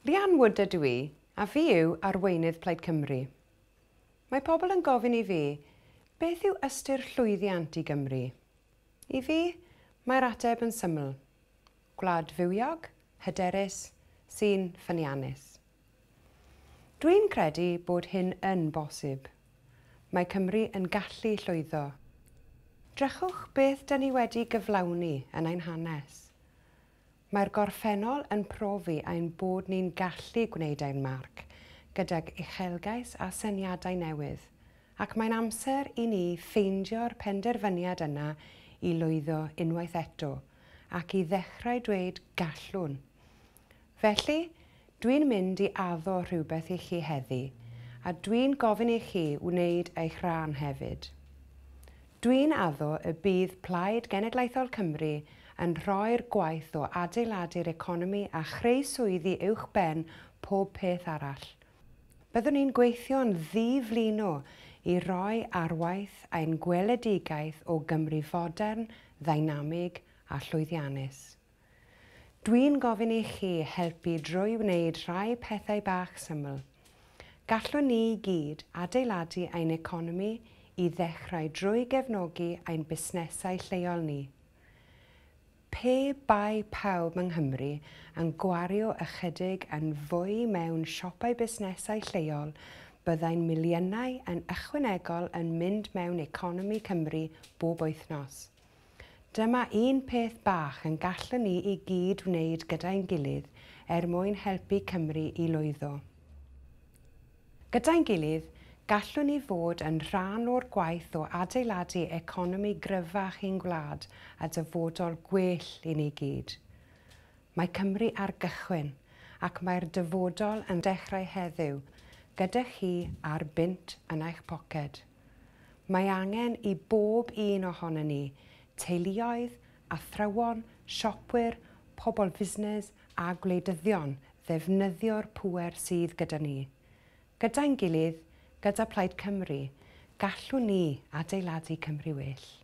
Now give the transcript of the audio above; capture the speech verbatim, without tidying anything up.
Leanne Wood ydw i, a fi yw arweinydd Plaid Cymru. Mae pobl yn gofyn i fi, beth yw ystyr llwyddiant i Gymru? I fi, mae'r ateb yn syml. Gwlad fywiog, hyderus, sy'n ffyniannus. Dwi'n credu bod hyn yn bosib. Mae Cymru yn gallu llwyddo. Drychwch beth 'dan ni wedi gyflawni yn ein hanes. Mae'r gorffennol yn profi ein bod ni'n gallu gwneud ein marc gydag uchelgais a syniadau newydd, ac mae'n amser i ni ffeindio'r penderfyniad yna i lwyddo unwaith eto ac i ddechrau dweud gallwn. Felly, dwi'n mynd i addo rhywbeth i chi heddi, a dwi'n gofyn i chi wneud eich rhan hefyd. Dwi'n addo y bydd Plaid Genedlaethol Cymru yn rhoi'r gwaith o adeiladu'r economi a chreu swyddi uwchben pob peth arall. Byddwn ni'n gweithio'n ddiflino i roi ar waith ein gweledigaeth o Gymru fodern, ddeinamig a llwyddiannus. Dwi'n gofyn i chi helpu drwy wneud rhai pethau bach syml. Gallwn ni i gyd adeiladu ein economi i ddechrau drwy gefnogi ein busnesau lleol ni. Pe bai pawb yng Nghymru yn gwario ychydig yn fwy mewn siopau busnesau lleol, byddai'n miliynau yn ychwanegol yn mynd mewn economi Cymru bob wythnos. Dyma un peth bach yn gallwn ni i gyd wneud gyda'n gilydd er mwyn helpu Cymru i lwyddo. Gyda'n gilydd, gallwn ni fod yn rhan o'r gwaith o adeiladu economi gryfach i'n gwlad a dyfodol gwell i ni gyd. Mae Cymru ar gychwyn ac mae'r dyfodol yn dechrau heddiw, gyda chi a'r bunt yn eich poced. Mae angen i bob un ohonon ni, teuluoedd, athrawon, siopwyr, pobl fusnes a gwleidyddion ddefnyddio'r pŵer sydd gyda ni. Gyda'n gilydd, gyda Plaid Cymru, gallwn ni adeiladu Cymru well.